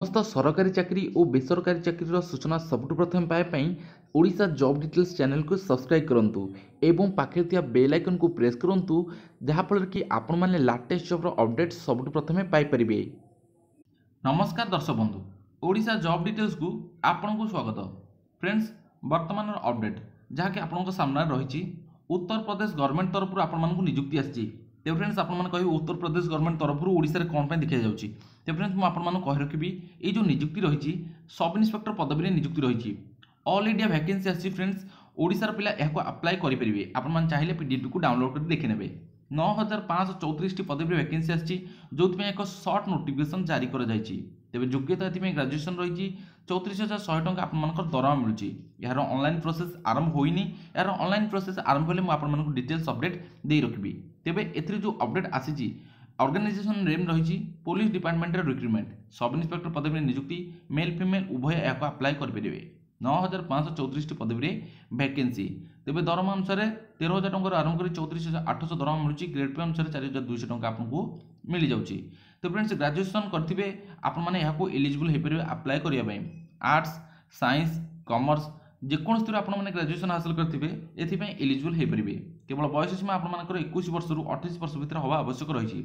ସମସ୍ତ ସରକାରୀ ଚାକିରି ଓ ବେସରକାରୀ ଚାକିରିର ସୂଚନା ସବୁଠୁ ପ୍ରଥମେ ପାଇବା ପାଇଁ ଓଡ଼ିଶା ଜବ୍ ଡିଟେଲ୍ସ ଚ୍ୟାନେଲକୁ ସବସ୍କ୍ରାଇବ୍ କରନ୍ତୁ ଏବଂ ପାଖରେ ଥିବା ବେଲ୍ ଆଇକନ୍କୁ ପ୍ରେସ୍ କରନ୍ତୁ, ଯାହାଫଳରେ କି ଆପଣମାନେ ଲାଟେଷ୍ଟ ଜବ୍ର ଅପଡ଼େଟ୍ ସବୁଠୁ ପ୍ରଥମେ ପାଇପାରିବେ। ନମସ୍କାର ଦର୍ଶକ ବନ୍ଧୁ, ଓଡ଼ିଶା ଜବ୍ ଡିଟେଲ୍ସକୁ ଆପଣଙ୍କୁ ସ୍ୱାଗତ। ଫ୍ରେଣ୍ଡସ୍, ବର୍ତ୍ତମାନର ଅପଡ଼େଟ୍ ଯାହାକି ଆପଣଙ୍କ ସାମ୍ନାରେ ରହିଛି, ଉତ୍ତରପ୍ରଦେଶ ଗଭର୍ଣ୍ଣମେଣ୍ଟ ତରଫରୁ ଆପଣମାନଙ୍କୁ ନିଯୁକ୍ତି ଆସିଛି। ତେବେ ଫ୍ରେଣ୍ଡସ୍, ଆପଣମାନେ କହିବେ ଉତ୍ତରପ୍ରଦେଶ ଗଭର୍ଣ୍ଣମେଣ୍ଟ ତରଫରୁ ଓଡ଼ିଶାରେ କ'ଣ ପାଇଁ ଦେଖାଯାଉଛି? ତେବେ ଫ୍ରେଣ୍ଡସ୍, ମୁଁ ଆପଣମାନଙ୍କୁ କହି ରଖିବି, ଏଇ ଯେଉଁ ନିଯୁକ୍ତି ରହିଛି ସବ୍ ଇନ୍ସପେକ୍ଟର ପଦବୀରେ ନିଯୁକ୍ତି ରହିଛି। ଅଲ୍ ଇଣ୍ଡିଆ ଭ୍ୟାକେନ୍ସି ଆସିଛି। ଫ୍ରେଣ୍ଡସ୍, ଓଡ଼ିଶାର ପିଲା ଏହାକୁ ଆପ୍ଲାଏ କରିପାରିବେ। ଆପଣମାନେ ଚାହିଁଲେ ପିଡିଏଫ୍ଟିକୁ ଡାଉନଲୋଡ୍ କରି ଦେଖିନେବେ। 9534ଟି ପଦବୀରେ ଭ୍ୟାକେନ୍ସି ଆସିଛି, ଯେଉଁଥିପାଇଁ ଏକ ସର୍ଟ ନୋଟିଫିକେସନ୍ ଜାରି କରାଯାଇଛି। ତେବେ ଯୋଗ୍ୟତା ଏଥିପାଇଁ ଗ୍ରାଜୁଏସନ୍ ରହିଛି। 34,100 ଟଙ୍କା ଆପଣମାନଙ୍କର ଦରମା ମିଳୁଛି। ଏହାର ଅନଲାଇନ୍ ପ୍ରୋସେସ୍ ଆରମ୍ଭ ହୋଇନି। ଏହାର ଅନଲାଇନ୍ ପ୍ରୋସେସ୍ ଆରମ୍ଭ ହେଲେ ମୁଁ ଆପଣମାନଙ୍କୁ ଡିଟେଲ୍ସ ଅପଡ଼େଟ୍ ଦେଇ ରଖିବି। ତେବେ ଏଥିରେ ଯେଉଁ ଅପଡ଼େଟ୍ ଆସିଛି, ଅର୍ଗାନାଇଜେସନ୍ ନେମ୍ ରହିଛି ପୋଲିସ ଡିପାର୍ଟମେଣ୍ଟର ରିକ୍ରୁଟମେଣ୍ଟ, ସବ୍ ଇନ୍ସପେକ୍ଟର ପଦବୀରେ ନିଯୁକ୍ତି। ମେଲ୍ ଫିମେଲ୍ ଉଭୟ ଏହାକୁ ଆପ୍ଲାଏ କରିପାରିବେ। 9534ଟି ପଦବୀରେ ଭ୍ୟାକେନ୍ସି। ତେବେ ଦରମା ଅନୁସାରେ 13,000 ଟଙ୍କାରୁ ଆରମ୍ଭ କରି 34,800 ଦରମା ମିଳୁଛି। ଗ୍ରେଡ୍ ପେ ଅନୁସାରେ 4,200 ଟଙ୍କା ଆପଣଙ୍କୁ ମିଳିଯାଉଛି। ତ ଫ୍ରେଣ୍ଡସ୍, ଗ୍ରାଜୁଏସନ୍ କରିଥିବେ ଆପଣମାନେ ଏହାକୁ ଏଲିଜିବଲ୍ ହୋଇପାରିବେ ଆପ୍ଲାଏ କରିବା ପାଇଁ। ଆର୍ଟ୍ସ, ସାଇନ୍ସ, କମର୍ସ ଯେକୌଣସିଥିରୁ ଆପଣମାନେ ଗ୍ରାଜୁଏସନ୍ ହାସଲ କରିଥିବେ, ଏଥିପାଇଁ ଏଲିଜିବଲ୍ ହୋଇପାରିବେ। କେବଳ ବୟସ ସୀମା ଆପଣମାନଙ୍କର 21 ବର୍ଷରୁ 28 ବର୍ଷ ଭିତରେ ହେବା ଆବଶ୍ୟକ ରହିଛି।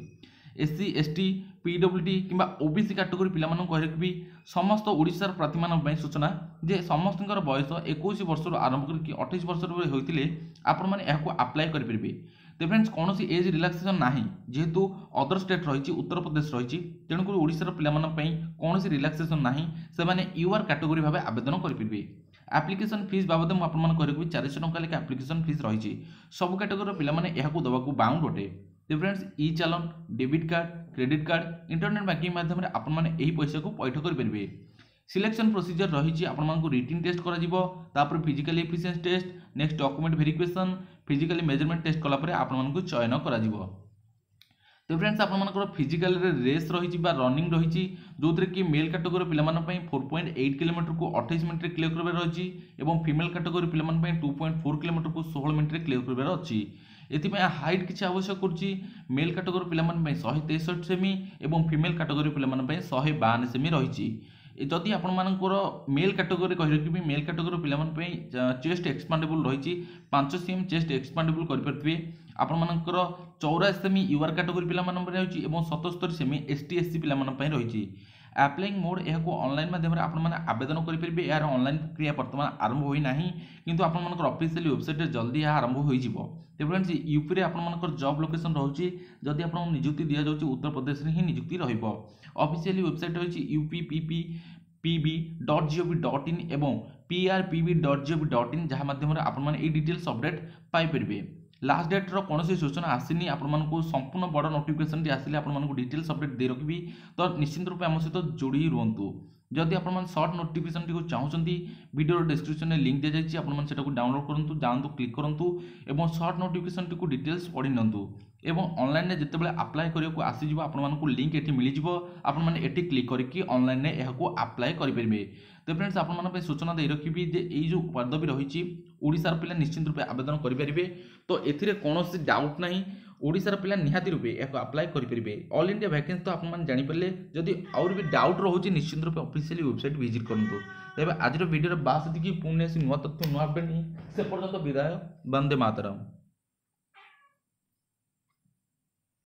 S C, S T, P W D କିମ୍ବା ଓ ବି ସି କାଟେଗୋରୀ ପିଲାମାନଙ୍କୁ କହି ରଖିବି, ସମସ୍ତ ଓଡ଼ିଶାର ପ୍ରାର୍ଥୀମାନଙ୍କ ପାଇଁ ସୂଚନା ଯେ ସମସ୍ତଙ୍କର ବୟସ 21 ବର୍ଷରୁ ଆରମ୍ଭ କରିକି 28 ବର୍ଷରୁ ହୋଇଥିଲେ ଆପଣମାନେ ଏହାକୁ ଆପ୍ଲାଏ କରିପାରିବେ। ତ ଫ୍ରେଣ୍ଡସ୍, କୌଣସି ଏଜ୍ ରିଲାକ୍ସେସନ୍ ନାହିଁ। ଯେହେତୁ ଅଦର ଷ୍ଟେଟ୍ ରହିଛି, ଉତ୍ତରପ୍ରଦେଶ ରହିଛି, ତେଣୁକରି ଓଡ଼ିଶାର ପିଲାମାନଙ୍କ ପାଇଁ କୌଣସି ରିଲାକ୍ସେସନ୍ ନାହିଁ। ସେମାନେ you R category ଭାବେ ଆବେଦନ କରିପାରିବେ। ଆପ୍ଲିକେସନ୍ ଫିସ୍ ବାବଦରେ ମୁଁ ଆପଣମାନଙ୍କୁ କହି ରଖିବି, 400 ଟଙ୍କା ଲେଖା ଆପ୍ଲିକେସନ୍ ଫିସ୍ ରହିଛି। ସବୁ କାଟେଗୋରୀର ପିଲାମାନେ ଏହାକୁ ଦେବାକୁ ବାଉଣ୍ଡ ଅଟେ। ତ ଫ୍ରେଣ୍ଡସ୍, ଇ ଚାଲାଣ, debit card, credit card, internet banking ମାଧ୍ୟମରେ ଆପଣମାନେ ଏହି ପଇସାକୁ ପଇଠ କରିପାରିବେ। ସିଲେକ୍ସନ୍ ପ୍ରୋସିଜର ରହିଛି, ଆପଣମାନଙ୍କୁ ରିଟିନ୍ ଟେଷ୍ଟ କରାଯିବ, ତାପରେ physical efficiency test, next document verification, physically measurement test କଲା ପରେ ଆପଣମାନଙ୍କୁ ଚୟନ କରାଯିବ। ତ ଫ୍ରେଣ୍ଡସ୍, ଆପଣମାନଙ୍କର ଫିଜିକାଲରେ ରେସ୍ ରହିଛି ବା ରନିଂ ରହିଛି, ଯେଉଁଥିରେ କି ମେଲ୍ କାଟେଗୋରୀ ପିଲାମାନଙ୍କ ପାଇଁ 4.8 କିଲୋମିଟରକୁ 28 ମିନିଟ୍ରେ କ୍ଲିୟର କରିବାର ରହିଛି ଏବଂ ଫିମେଲ୍ କାଟେଗୋରୀ ପିଲାମାନଙ୍କ ପାଇଁ 2.4 କିଲୋମିଟରକୁ 16 ମିନିଟ୍ରେ କ୍ଲିୟର କରିବାର ଅଛି। ଏଥିପାଇଁ ହାଇଟ୍ କିଛି ଆବଶ୍ୟକ କରୁଛି। ମେଲ୍ କାଟେଗୋରୀ ପିଲାମାନଙ୍କ ପାଇଁ 163 ସେମି ଏବଂ ଫିମେଲ୍ କାଟେଗୋରୀ ପିଲାମାନଙ୍କ ପାଇଁ 152 ସେମି ରହିଛି। ଯଦି ଆପଣମାନଙ୍କର ମେଲ୍ କାଟେଗୋରୀ କହି ରଖିବି, ମେଲ୍ କାଟେଗୋରୀ ପିଲାମାନଙ୍କ ପାଇଁ ଚେଷ୍ଟ ଏକ୍ସପାଣ୍ଡେବୁଲ୍ ରହିଛି, 5 ସି ଏମ୍ ଚେଷ୍ଟ ଏକ୍ସପାଣ୍ଡେବୁଲ୍ କରିପାରୁଥିବେ। ଆପଣମାନଙ୍କର 84 ସେମି you R category ପିଲାମାନଙ୍କ ପାଇଁ ରହିଛି ଏବଂ 77 ସେମି ଏସ୍ ଟି, ଏସ୍ ସି ପିଲାମାନଙ୍କ ପାଇଁ ରହିଛି। ଆପ୍ଲାଇଂ ମୋଡ଼, ଏହାକୁ ଅନଲାଇନ୍ ମାଧ୍ୟମରେ ଆପଣମାନେ ଆବେଦନ କରିପାରିବେ। ଏହାର ଅନଲାଇନ୍ ପ୍ରକ୍ରିୟା ବର୍ତ୍ତମାନ ଆରମ୍ଭ ହୋଇନାହିଁ, କିନ୍ତୁ ଆପଣମାନଙ୍କର ଅଫିସିଆଲି ୱେବସାଇଟ୍ରେ ଜଲ୍ଦି ଏହା ଆରମ୍ଭ ହୋଇଯିବ। ତେବେ ଫ୍ରେଣ୍ଡସ୍, ୟୁପିରେ ଆପଣମାନଙ୍କର ଜବ୍ ଲୋକେସନ୍ ରହୁଛି। ଯଦି ଆପଣଙ୍କୁ ନିଯୁକ୍ତି ଦିଆଯାଉଛି, ଉତ୍ତରପ୍ରଦେଶରେ ହିଁ ନିଯୁକ୍ତି ରହିବ। ଅଫିସିଆଲି ୱେବସାଇଟ୍ ରହିଛି U P P P P B dot G O V dot in ଏବଂ P R P B dot G O V dot in, ଯାହା ମାଧ୍ୟମରେ ଆପଣମାନେ ଏଇ ଡିଟେଲ୍ସ ଅପଡ଼େଟ୍ ପାଇପାରିବେ। ଲାଷ୍ଟ ଡେଟ୍ର କୌଣସି ସୂଚନା ଆସିନି। ଆପଣମାନଙ୍କୁ ସମ୍ପୂର୍ଣ୍ଣ ବଡ଼ ନୋଟିଫିକେସନ୍ଟି ଆସିଲେ ଆପଣମାନଙ୍କୁ ଡିଟେଲ୍ସ ଅପଡ଼େଟ୍ ଦେଇ ରଖିବି, ତ ନିଶ୍ଚିନ୍ତ ରୂପେ ଆମ ସହିତ ଯୋଡ଼ି ରୁହନ୍ତୁ। ଯଦି ଆପଣମାନେ ସର୍ଟ ନୋଟିଫିକେସନ୍ଟିକୁ ଚାହୁଁଛନ୍ତି, ଭିଡ଼ିଓର ଡିସ୍କ୍ରିପ୍ସନ୍ରେ ଲିଙ୍କ୍ ଦିଆଯାଇଛି, ଆପଣମାନେ ସେଟାକୁ ଡାଉନଲୋଡ୍ କରନ୍ତୁ, ଯାଆନ୍ତୁ, କ୍ଲିକ୍ କରନ୍ତୁ ଏବଂ ସର୍ଟ ନୋଟିଫିକେସନ୍ଟିକୁ ଡିଟେଲ୍ସ ପଢ଼ି ନିଅନ୍ତୁ। ଏବଂ ଅନଲାଇନ୍ରେ ଯେତେବେଳେ ଆପ୍ଲାଏ କରିବାକୁ ଆସିଯିବ, ଆପଣମାନଙ୍କୁ ଲିଙ୍କ୍ ଏଠି ମିଳିଯିବ। ଆପଣମାନେ ଏଠି କ୍ଲିକ୍ କରିକି ଅନଲାଇନ୍ରେ ଏହାକୁ ଆପ୍ଲାଏ କରିପାରିବେ। ତ ଫ୍ରେଣ୍ଡସ୍, ଆପଣମାନଙ୍କ ପାଇଁ ସୂଚନା ଦେଇ ରଖିବି ଯେ ଏଇ ଯେଉଁ ପଦବୀ ରହିଛି, ଓଡ଼ିଶାର ପିଲା ନିଶ୍ଚିନ୍ତ ରୂପେ ଆବେଦନ କରିପାରିବେ। ତ ଏଥିରେ କୌଣସି ଡାଉଟ୍ ନାହିଁ, ଓଡ଼ିଶାର ପିଲା ନିହାତି ରୂପେ ଏହାକୁ ଆପ୍ଲାଏ କରିପାରିବେ। ଅଲ୍ ଇଣ୍ଡିଆ ଭ୍ୟାକେନ୍ସି ତ ଆପଣମାନେ ଜାଣିପାରିଲେ। ଯଦି ଆହୁରି ବି ଡାଉଟ୍ ରହୁଛି, ନିଶ୍ଚିନ୍ତ ରୂପେ ଅଫିସିଆଲି ୱେବସାଇଟ୍ ଭିଜିଟ୍ କରନ୍ତୁ। ତେବେ ଆଜିର ଭିଡ଼ିଓରେ ବାସ୍ ଏତିକି। ପୁଣି ଆସି ନୂଆ ତଥ୍ୟ, ନୂଆ ଅପଡ଼େଟ୍, ସେ ପର୍ଯ୍ୟନ୍ତ ବିଦାୟ। ବନ୍ଦେ ମାତରମ୍।